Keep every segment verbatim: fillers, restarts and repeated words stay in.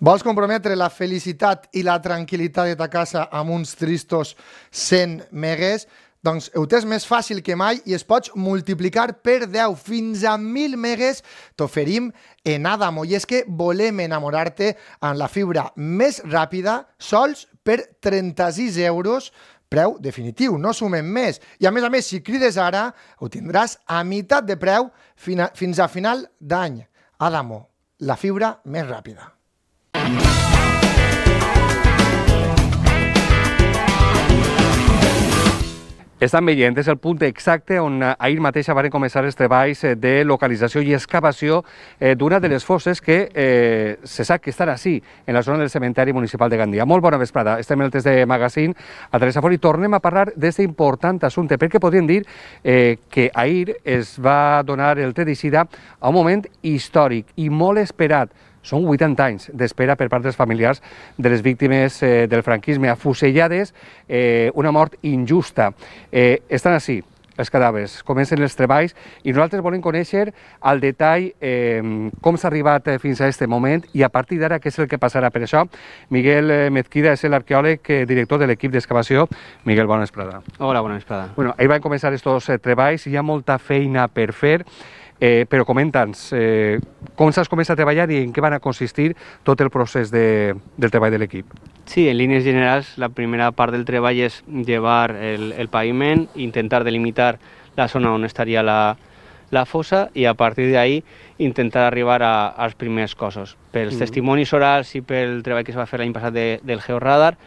Vols comprometre la felicitat i la tranquil·litat de ta casa amb uns tristos cent megues? Doncs ho tens més fàcil que mai i es pots multiplicar per deu fins a mil megues t'oferim en Adamo. I és que volem enamorar-te amb la fibra més ràpida sols per trenta-sis euros, preu definitiu, no sumem més. I a més a més, si crides ara, ho tindràs a meitat de preu fins a final d'any. Adamo, la fibra més ràpida. Estan veient, és el punt exacte on ahir mateix van començar els treballs de localització i excavació d'una de les fosses que eh, se sap que estan així, en la zona del cementeri municipal de Gandia. Molt bona vesprada, estem en el test de magazín a Teresa Fort i tornem a parlar d'aquest important assumpte, perquè podríem dir eh, que ahir es va donar el tret d'eixida a un moment històric i molt esperat. Són vuitanta anys d'espera per part dels familiars de les víctimes eh, del franquisme, afusellades, eh, una mort injusta. Eh, estan així els cadàvers, comencen els treballs i nosaltres volem conèixer al detall eh, com s'ha arribat fins a aquest moment i a partir d'ara què és el que passarà. Per això, Miguel Mezquida és l'arqueòleg eh, director de l'equip d'excavació. Miguel, bona vesprada. Hola, bona vesprada. Bueno, ahir van començar aquests eh, treballs, hi ha molta feina per fer. Eh, però comenta'ns, eh, com s'has començat a treballar i en què van a consistir tot el procés de, del treball de l'equip? Sí, en línies generals, la primera part del treball és llevar el, el paviment, intentar delimitar la zona on estaria la, la fossa i a partir d'ahí intentar arribar a, als primers cossos. Pels mm. testimonis orals i pel treball que es va fer l'any passat de, del georradar,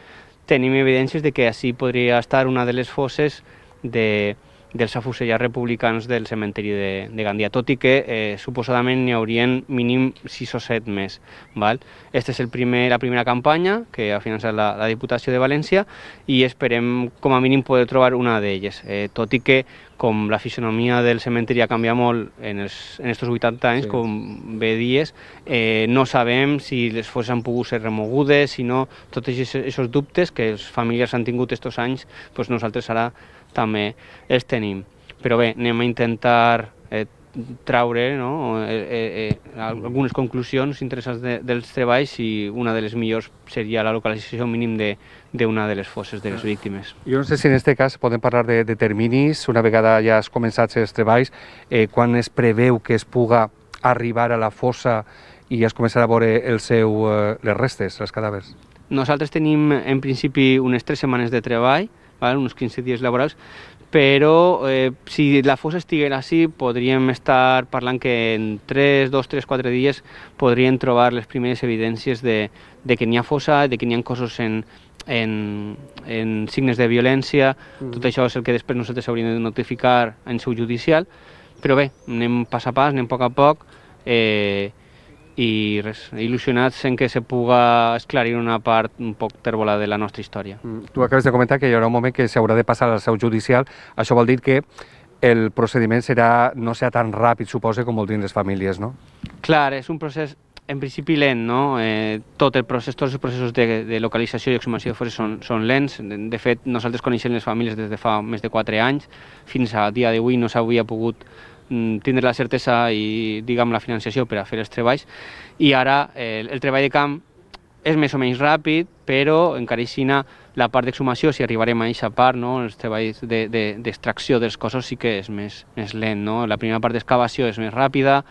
tenim evidències de que així podria estar una de les fosses de dels afusellats republicans del cementeri de, de Gandia, tot i que eh, suposadament n'hi haurien mínim sis o set més. Val? Esta és el primer, la primera campanya que ha finançat la, la Diputació de València i esperem com a mínim poder trobar una d'elles, eh, tot i que com la fisonomia del cementeri ha canviat molt en aquests vuitanta anys, sí. Com bé dies, eh, no sabem si les fosses han pogut ser remogudes, si no, tots aquests dubtes que els familiars han tingut aquests anys, doncs nosaltres ara també els tenim. Però bé, anem a intentar eh, traure no, eh, eh, algunes conclusions interessants de, dels treballs i una de les millors seria la localització mínim d'una de, de les fosses de les víctimes. Jo no sé si en aquest cas podem parlar de, de terminis, una vegada ja has començat els treballs, eh, quan es preveu que es puga arribar a la fossa i es començarà a veure el seu, eh, les restes, els cadàvers? Nosaltres tenim en principi unes tres setmanes de treball, val? Uns quinze dies laborals, però eh, si la fossa estiguera així podríem estar parlant que en tres, dos, tres, quatre dies podrien trobar les primeres evidències de, de que n'hi ha fossa, de que n'hi ha cossos en, en, en signes de violència. Mm. Tot això és el que després nosaltres hauríem de notificar en seu judicial, però bé, anem pas a pas, anem a poc a poc, eh, i res, il·lusionats en que se puga esclarir una part un poc tèrbola de la nostra història. Mm. Tu acabes de comentar que hi haurà un moment que s'haurà de passar al seu judicial. Això vol dir que el procediment serà, no serà tan ràpid, suposa, com voldrien les famílies, no? Clar, és un procés en principi lent, no? Eh, tot el procés, tots els processos de, de localització i exhumació de fosses són, són lents. De, de fet, nosaltres coneixem les famílies des de fa més de quatre anys. Fins al dia d'avui no s'havia pogut tindre la certesa i, diguem, la financiació per a fer els treballs. I ara eh, el treball de camp és més o menys ràpid, però encara així la part d'exhumació, si arribarem a aquesta part, no? Els treballs d'extracció de, de, dels cossos sí que és més, més lent. No? La primera part d'excavació és més ràpida,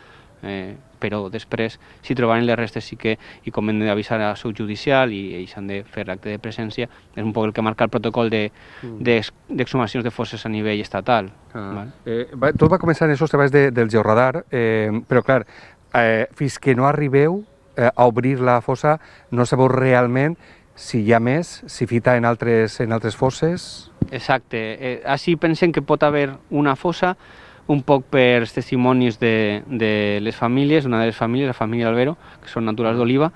eh, però després, si trobaren les restes, sí que hi conven d'avisar a seu judicial i ells han de fer l'acte de presència. És un poc el que marca el protocol d'exhumacions de, de fosses a nivell estatal. Ah. Val? Eh, va, tot va començar en aquests treballs de, del georradar, eh, però clar, eh, fins que no arribeu eh, a obrir la fossa, no sabeu realment si hi ha més, si fita en altres, en altres fosses. Exacte. Eh, així pensem que pot haver una fossa, un poc per testimonis de, de les famílies, una de les famílies, la família Albero, que són naturals d'Oliva,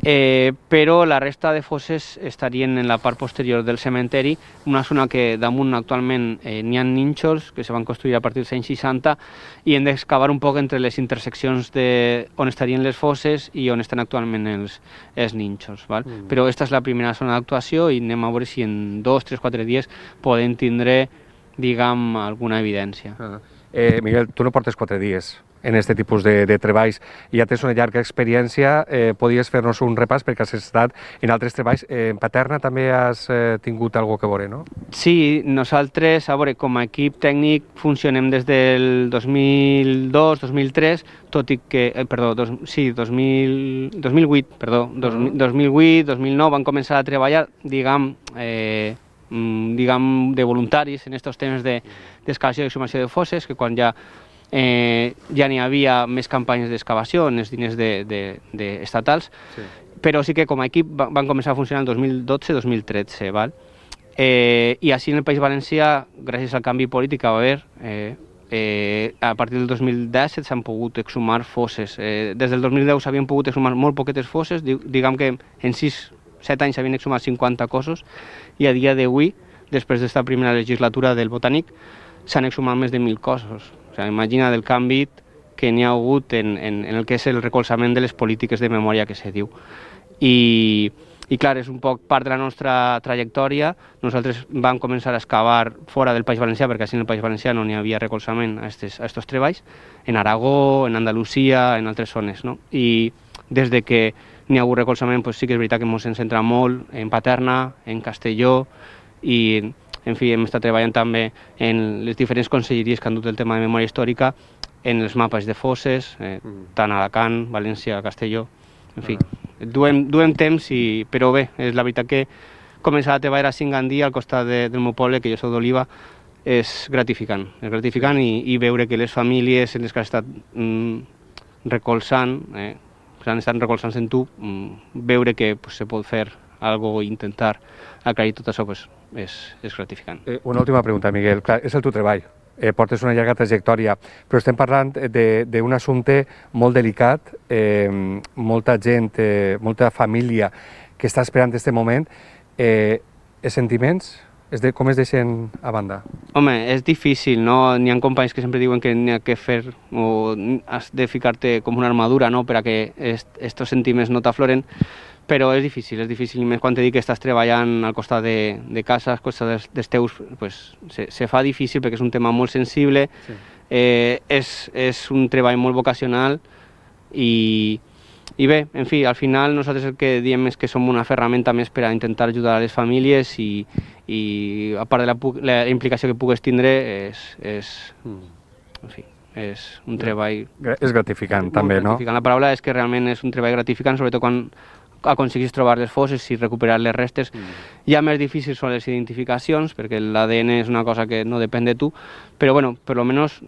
eh, però la resta de fosses estarien en la part posterior del cementeri, una zona que damunt actualment eh, n'hi ha nínxols que se van construir a partir dels anys seixanta i hem d'excavar un poc entre les interseccions de on estarien les fosses i on estan actualment els, els nínxols. Val? Mm. Però aquesta és la primera zona d'actuació i anem a veure si en dos, tres, quatre dies podem tindre, diguem, alguna evidència. Ah. Eh, Miguel, tu no portes quatre dies en aquest tipus de, de treballs, ja tens una llarga experiència, eh, podies fer-nos un repàs perquè has estat en altres treballs. Eh, en Paterna també has eh, tingut alguna cosa a veure, no? Sí, nosaltres, a veure, com a equip tècnic funcionem des del dos mil dos, dos mil tres, tot i que, eh, perdó, dos, sí, dos mil, dos mil vuit, perdó, dos, dos mil vuit, dos mil nou van començar a treballar, diguem, eh, diguem, de voluntaris en aquests temes d'excavació i exhumació de fosses, que quan ja Eh, ja n'hi havia més campanyes d'excavació en els diners de, de, de estatals, sí. Però sí que com a equip van començar a funcionar el dos mil dotze dos mil tretze, val? Eh, i així en el País Valencià, gràcies al canvi polític que va haver, eh, eh, a partir del dos mil disset s'han pogut exhumar fosses. Eh, des del dos mil deu s'havien pogut exhumar molt poquetes fosses, diguem que en sis set anys s'havien exhumat cinquanta cossos, i a dia d'avui, després d'esta primera legislatura del Botànic, s'han exhumat més de mil cossos. O sigui, imagina del canvi que n'hi ha hagut en, en, en el que és el recolzament de les polítiques de memòria que se diu. I, i clar, és un poc part de la nostra trajectòria. Nosaltres vam començar a excavar fora del País Valencià, perquè així en el País Valencià no n'hi havia recolzament a aquests treballs, en Aragó, en Andalusia, en altres zones, no? I des de que n'hi ha hagut recolzament, pues sí que és veritat que ens hem centrat molt en Paterna, en Castelló, i en fi, hem estat treballant també en les diferents conselleries que han dut el tema de memòria històrica, en els mapes de fosses, eh, tant a Alacant, València, Castelló, en fi, duem, duem temps, i, però bé, és la veritat que començar a treballar a Singandí, al costat de, del meu poble, que jo soc d'Oliva, és gratificant, és gratificant i, i veure que les famílies en les que has estat mm, recolzant, eh, s'han estat recolzant en tu, mm, veure que pues, se pot fer algo i intentar aclarir tot això, pues, és, és gratificant. Eh, una última pregunta, Miguel. Clar, és el teu treball, eh, portes una llarga trajectòria, però estem parlant d'un assumpte molt delicat, eh, molta gent, eh, molta família que està esperant aquest moment. Eh, els sentiments, es de, com es deixen a banda? Home, és difícil, no? N'hi ha companys que sempre diuen que n'hi ha que fer o has de ficar-te com una armadura, no?, per a que aquests sentiments no t'afloren, però és difícil, és difícil, més quan te dic que estàs treballant al costat de, de casa, al costat dels, dels teus, pues, se, se fa difícil perquè és un tema molt sensible, sí. eh, és, és un treball molt vocacional i, i bé, en fi, al final nosaltres el que diem és que som una ferramenta més per a intentar ajudar a les famílies i, i a part de la, la implicació que pugues tindre, és, és en fi, és un treball... És gratificant també, gratificant. No? La paraula és que realment és un treball gratificant, sobretot quan aconseguís trobar les fosses i recuperar les restes. Mm. Ja més difícils són les identificacions, perquè l'A D N és una cosa que no depèn de tu, però bueno, per lo menos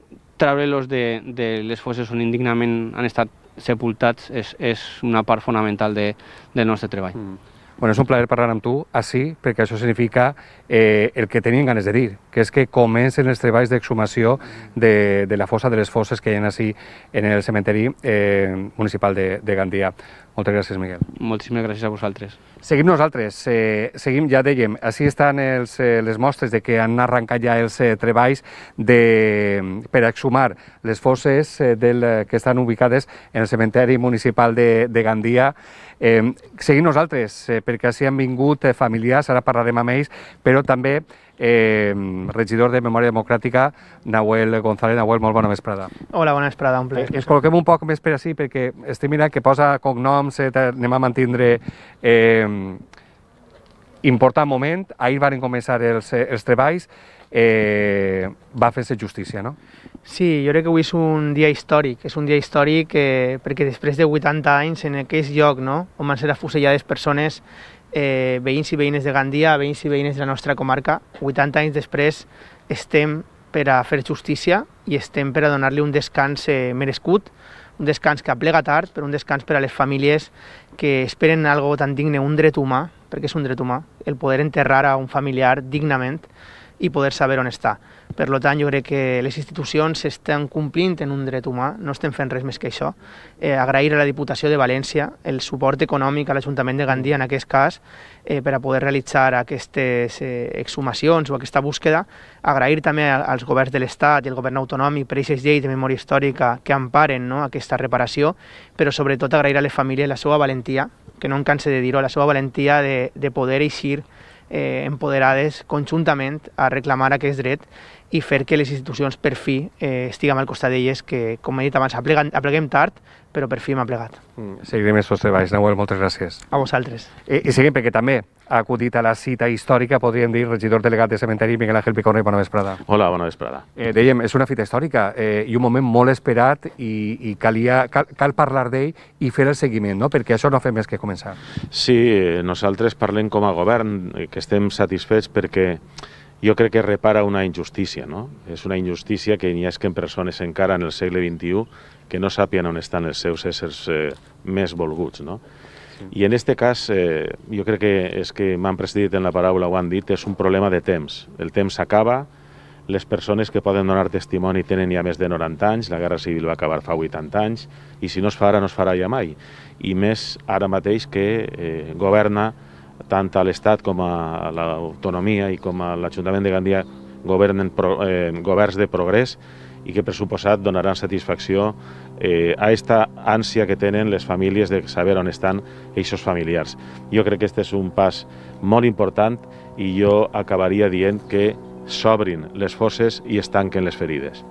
treure-los de, de les fosses on indignament han estat sepultats és, és una part fonamental de, del nostre treball. Mm. Bueno, és un plaer parlar amb tu així, perquè això significa eh, el que tenien ganes de dir, que és que comencen els treballs d'exhumació de, de la fossa de les fosses que hi ha així en el cementeri eh, municipal de, de Gandia. Moltes gràcies, Miguel. Moltíssimes gràcies a vosaltres. Seguim nosaltres, eh, seguim, ja dèiem, així estan els, eh, les mostres de que han arrencat ja els eh, treballs de, per exhumar les fosses eh, del, que estan ubicades en el cementeri municipal de, de Gandia. Eh, seguim nosaltres, eh, perquè així han vingut eh, familiars, ara parlarem amb ells, però també eh, regidor de Memòria Democràtica, Nahuel González. Nahuel, molt bona vesprada. Hola, bona vesprada, un plaer. Eh, ens col·loquem un poc més per així, perquè estic mirant que posa cognoms, eh, anem a mantindre eh, important moment. Ahir van començar els, els treballs, eh, va fer-se justícia, no? Sí, jo crec que avui és un dia històric, és un dia històric eh, perquè després de vuitanta anys en aquest lloc, no?, on van ser afusellades persones, eh, veïns i veïnes de Gandia, veïns i veïnes de la nostra comarca, vuitanta anys després estem per a fer justícia i estem per a donar-li un descans eh, merescut, un descans que aplega tard, però un descans per a les famílies que esperen algo tan digne, un dret humà, perquè és un dret humà, el poder enterrar a un familiar dignament i poder saber on està. Per tant, jo crec que les institucions estan complint en un dret humà, no estem fent res més que això. Eh, agrair a la Diputació de València el suport econòmic a l'Ajuntament de Gandia, en aquest cas, eh, per a poder realitzar aquestes eh, exhumacions o aquesta búsqueda. Agrair també als governs de l'Estat i al govern autonòmic per aquestes lleis de memòria històrica que emparen, no?, aquesta reparació, però sobretot agrair a les famílies la seva valentia, que no em canse de dir-ho, la seva valentia de, de poder eixir eh, empoderades conjuntament a reclamar aquest dret i fer que les institucions per fi eh, estiguem al costat d'elles, que, com he dit abans, apleguen, apleguem tard, però per fi hem aplegat. Mm, seguirem estos treballs. Nahuel, moltes gràcies. A vosaltres. I, i seguim perquè també ha acudit a la cita històrica, podríem dir, regidor delegat de cementeri, Miguel Ángel Picorno, i bona vesprada. Hola, bona vesprada. Eh, dèiem, és una fita històrica eh, i un moment molt esperat i, i calia, cal, cal parlar d'ell i fer el seguiment, no? Perquè això no fa més que començar. Sí, nosaltres parlem com a govern, que estem satisfets perquè jo crec que repara una injustícia, no? És una injustícia que n'hi ha que en persones encara en el segle vint-i-u que no sàpien on estan els seus éssers eh, més volguts, no? Sí. I en este cas, eh, jo crec que és que m'han precedit en la paraula, ho han dit, és un problema de temps. El temps s'acaba, les persones que poden donar testimoni tenen ja més de noranta anys, la Guerra Civil va acabar fa vuitanta anys, i si no es fa ara, no es farà ja mai. I més ara mateix que eh, governa tant a l'Estat com a l'autonomia i com a l'Ajuntament de Gandia governen pro, eh, governs de progrés i que per suposat donaran satisfacció eh, a aquesta ànsia que tenen les famílies de saber on estan eixos familiars. Jo crec que aquest és un pas molt important i jo acabaria dient que s'obrin les fosses i es tanquen les ferides.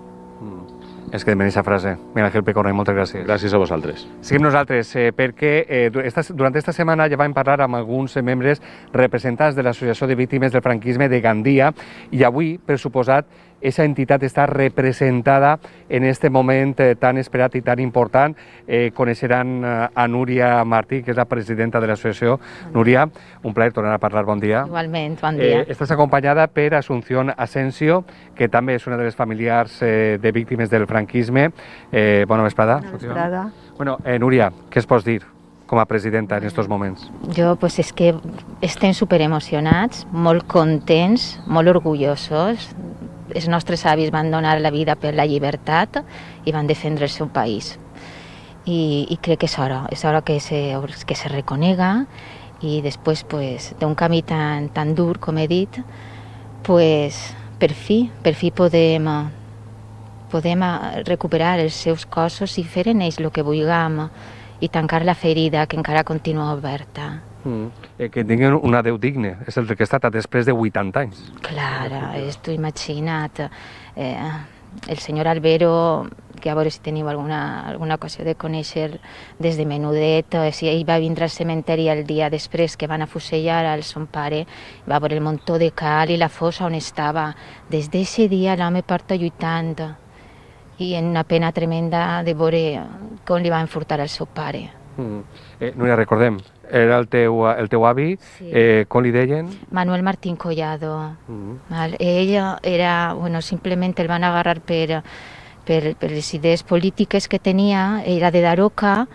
És que demani aquesta frase. Miguel Ángel Picorno, moltes gràcies. Gràcies a vosaltres. Seguim nosaltres, eh, perquè eh, esta, durant aquesta setmana ja vam parlar amb alguns membres representants de l'Associació de Víctimes del Franquisme de Gandia i avui, per suposat, aquesta entitat està representada en aquest moment eh, tan esperat i tan important. Eh, coneixeran eh, a Núria Martí, que és la presidenta de l'associació. Núria, un plaer tornar a parlar, bon dia. Igualment, bon dia. Eh, estàs acompanyada per Asunción Asensio, que també és una de les familiars eh, de víctimes del franquisme. Eh, bona vesprada. Bona vesprada. Bueno, eh, Núria, què es pots dir com a presidenta en aquests moments? Jo, pues, és que estem superemocionats, molt contents, molt orgullosos. Els nostres avis van donar la vida per la llibertat i van defendre el seu país. I, i crec que és hora, és hora que se, que se reconega i després pues, d'un camí tan, tan dur, com he dit, pues, per fi, per fi podem, podem recuperar els seus cossos i fer en ells el que vulguem i tancar la ferida que encara continua oberta. Mm. Eh, que tinguin un adeu digne, és el que ha estat després de vuitanta anys. Clar, és tu imagina't. Eh, el senyor Albero, que a veure si teniu alguna, alguna ocasió de conèixer des de menudet, eh, si ell va vindre al cementeri el dia després que van afusellar al son pare, va veure el muntó de cal i la fossa on estava. Des d'aquest dia l'home porta lluitant i en una pena tremenda de veure com li van furtar al seu pare. Mm. Eh, Núria, recordem, era el teu, el teu avi, sí. eh, com li deien? Manuel Martín Collado. Mm. Val? Ell era, bueno, simplement el van agarrar per, per, per les idees polítiques que tenia, era de Daroca,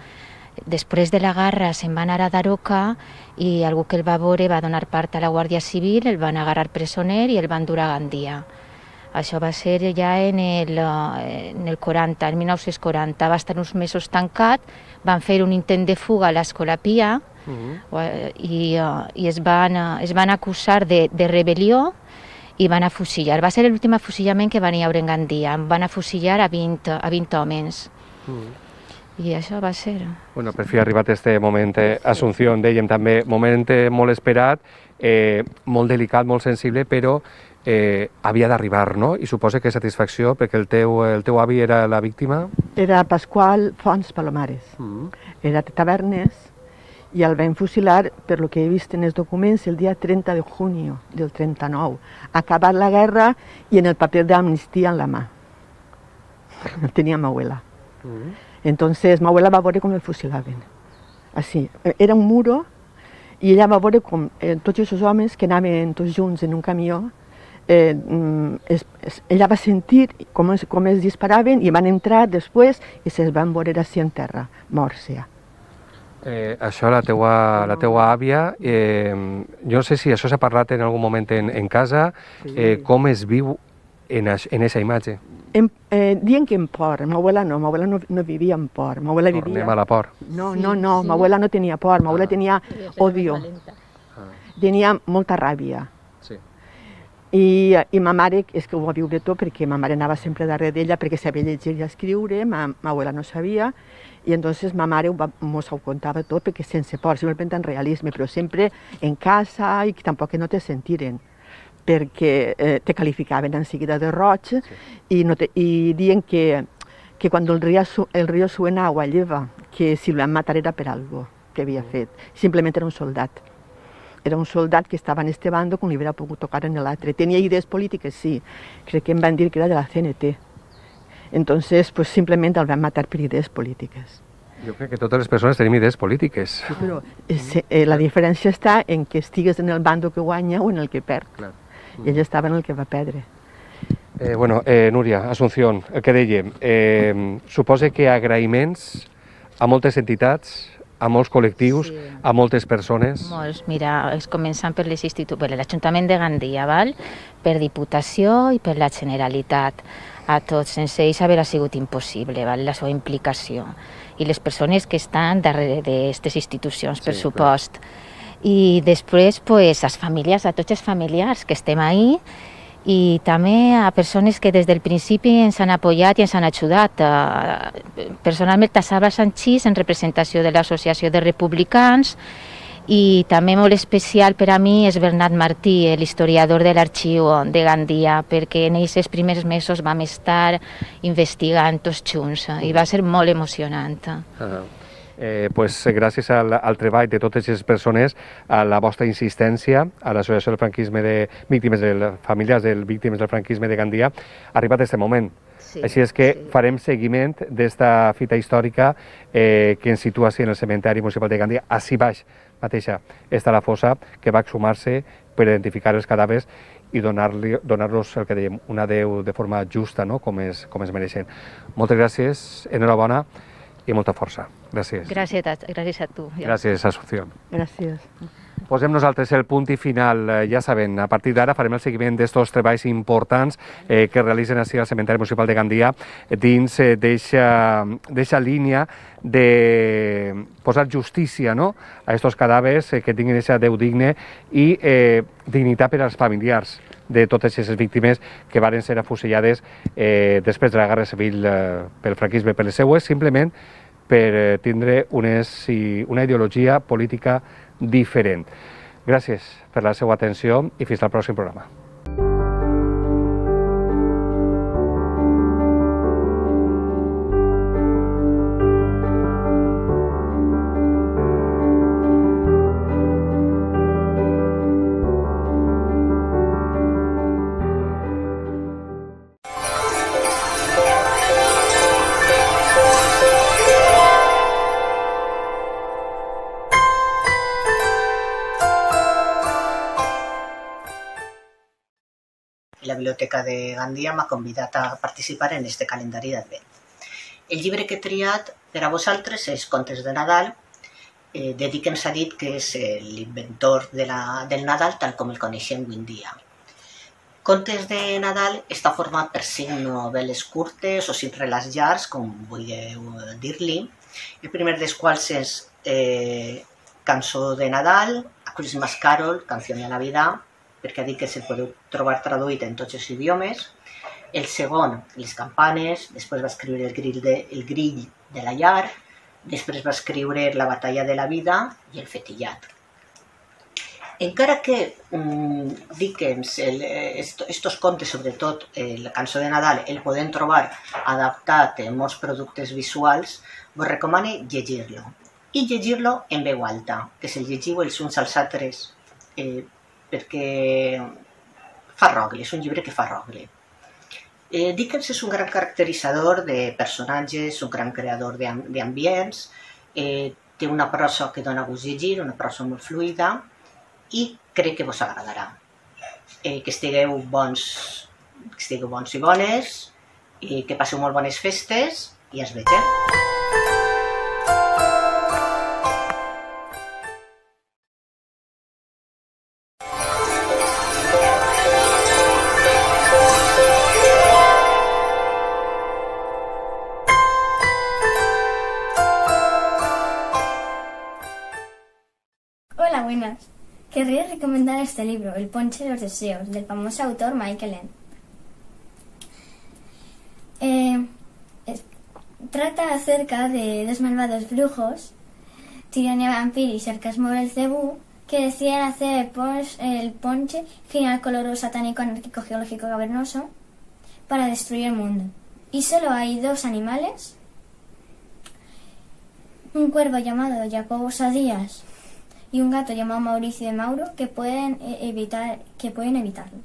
després de la guerra se'n va anar a Daroca i algú que el va veure va donar part a la Guàrdia Civil, el van agarrar presoner i el van dur a Gandia. Això va ser ja en el, en el quaranta, en mil nou-cents quaranta, va estar uns mesos tancat, van fer un intent de fuga a l'Escola Pia uh-huh. i, i es, van, es van acusar de, de rebel·lió i van afusillar. Va ser l'últim afusillament que van hi haure en Gandia, van afusillar a vint, a vint homes. Uh-huh. I això va ser. Bueno, per fi ha arribat este moment, eh, Asunción, dèiem també, moment eh, molt esperat, eh, molt delicat, molt sensible, però eh, havia d'arribar, no? I suposa que satisfacció, perquè el teu, el teu avi era la víctima? Era Pasqual Fons Palomares. Mm. Era de Tavernes i el van fusilar, per lo que he vist en els documents, el dia trenta de junio del trenta-nou. Ha acabat la guerra i en el paper d'amnistia en la mà. Tenia ma abuela. Mm. Entonces, ma abuela va veure com el fusilaven. Així. Era un muro i ella va veure com eh, tots aquests homes que anaven tots junts en un camió, eh, es, es, ella va sentir com es, com es disparaven i van entrar després i se'ls van veure així en terra, morts ja. Eh, això, la teua, la teua àvia, eh, jo no sé si això s'ha parlat en algun moment en, en casa, sí. eh, com es viu en aquesta imatge? En, eh, dient que en por, ma abuela no, ma abuela no, no vivia en por, ma abuela vivia... Tornem a la por. No, no, no, sí. Ma abuela no tenia por, ma abuela ah. tenia odio, ah. tenia molta ràbia. Sí. I, I ma mare, és que ho va viure tot perquè ma mare anava sempre darrere d'ella perquè sabia llegir i escriure, ma, ma abuela no sabia, i entonces ma mare mos ho contava tot perquè sense por, simplement en realisme, però sempre en casa i tampoc que no te sentiren. perquè eh, te calificaven en seguida de roig sí. i, no te, i diuen que, que quan el riu, el riu suena agua lleva, que si lo van matar era per algo que havia fet, simplement era un soldat. Era un soldat que estava en este bando com li hauria pogut tocar en l'altre. Tenia idees polítiques, sí, crec que em van dir que era de la C N T. Entonces, pues simplement el van matar per idees polítiques. Jo crec que totes les persones tenim idees polítiques. Sí, però eh, la diferència està en que estigues en el bando que guanya o en el que perd. Clar. I ell estava en el que va perdre. Eh, bueno, eh, Núria, Asunción, el que dèiem, eh, suposa que agraïments a moltes entitats, a molts col·lectius, sí. a moltes persones. Molts, mira, es començant per les institu... per l'Ajuntament de Gandia, val? Per Diputació i per la Generalitat. A tots, sense ells haver sigut impossible, val? La seva implicació. I les persones que estan darrere d'aquestes institucions, per sí, supost. Clar. I després, pues, les famílies, a tots els familiars que estem ahí, i també a persones que des del principi ens han apoyat i ens han ajudat. Personalment, a Salva Sanchís, en representació de l'Associació de Republicans, i també molt especial per a mi és Bernat Martí, l'historiador de l'Arxiu de Gandia, perquè en aquests primers mesos vam estar investigant tots junts i va ser molt emocionant. Uh-huh. Eh, pues, gràcies al, al treball de totes les persones, a la vostra insistència, a l'Associació del Franquisme de Víctimes de les Famílies de Víctimes del Franquisme de Gandia, ha arribat aquest moment. Sí, Així és que sí. farem seguiment d'esta fita històrica eh, que ens situa en el cementeri municipal de Gandia. Així baix mateixa està la fossa que va exhumar-se per identificar els cadàvers i donar-los, donar el que dèiem, una adeu de forma justa, no? com, es, com es mereixen. Moltes gràcies, enhorabona i molta força. Gràcies. Gràcies a, gràcies a tu. Gràcies, Asunción. Gràcies. Posem nosaltres el punt i final. Ja saben, a partir d'ara farem el seguiment d'estos treballs importants eh, que realitzen així al Cementeri Municipal de Gandia dins eh, d'eixa línia de posar justícia, no?, a estos cadàvers eh, que tinguin aquesta Déu digne i eh, dignitat per als familiars de totes aquestes víctimes que varen ser afusellades eh, després de la Guerra Civil eh, pel franquisme, per les seues, simplement per eh, tindre unes, una ideologia política diferent. Gràcies per la seva atenció i fins al pròxim programa. La Biblioteca de Gandia m'ha convidat a participar en este calendari d'Advent. El llibre que he triat per a vosaltres és Contes de Nadal, eh, de Dickens ha dit que és l'inventor de la, del Nadal tal com el coneixem avui en dia. Contes de Nadal està format per cinc novel·les curtes o cinc relats llargs, com vulgueu dir-li. El primer dels quals és eh, Cançó de Nadal, A Christmas Carol, Canció de Navidad, perquè ha dit que se'l podeu trobar traduït en tots els idiomes. El segon, Les campanes, després va escriure El grill de, el grill de la llar, després va escriure La batalla de la vida i El fetillat. Encara que um, Dickens, el, est, estos contes, sobretot eh, la Cançó de Nadal, el podem trobar adaptat en molts productes visuals, vos recomano llegir-lo. I llegir-lo en veu alta, que se'l llegiu els uns als altres, eh, perquè fa rogle, és un llibre que fa rogle. Eh, Dickens és un gran caracteritzador de personatges, un gran creador d'ambients, eh, té una prosa que dona gust llegir, una prosa molt fluida, i crec que vos agradarà. Eh, que estigueu bons, que estigueu bons i bones, i que passeu molt bones festes, i es vegem. Hola, buenas. Querría recomendar este libro, El ponche de los deseos, del famoso autor Michael Ende. Eh, es, trata acerca de dos malvados brujos, Tirania Vampir y Sarcasmo Belcebú, que deciden hacer el, pon- el ponche final colorado satánico anárquico geológico cavernoso para destruir el mundo. Y solo hay dos animales, un cuervo llamado Jacobo Sadías y un gato llamado Mauricio de Mauro, que pueden evitar, que pueden evitarlo.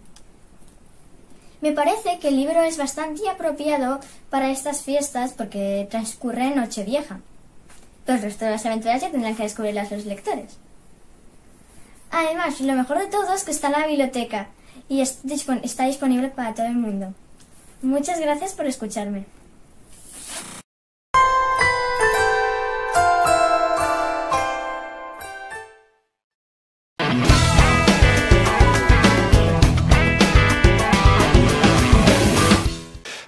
Me parece que el libro es bastante apropiado para estas fiestas porque transcurre en Nochevieja. Pero el resto de las aventuras ya tendrán que descubrirlas los lectores. Además, lo mejor de todo es que está en la biblioteca y es dispon- está disponible para todo el mundo. Muchas gracias por escucharme.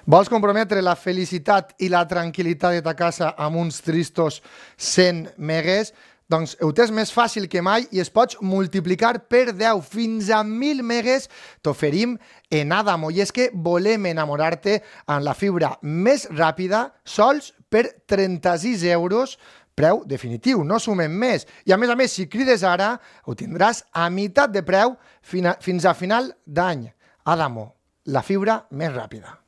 Vols comprometre la felicitat i la tranquil·litat de ta casa amb uns tristos cent megues? Doncs ho tens més fàcil que mai i es pots multiplicar per deu fins a mil megues. T'oferim en Adamo. I és que volem enamorar-te amb la fibra més ràpida, sols per trenta-sis euros, preu definitiu, no sumem més. I a més a més, si crides ara, ho tindràs a meitat de preu fins a final d'any. Adamo, la fibra més ràpida.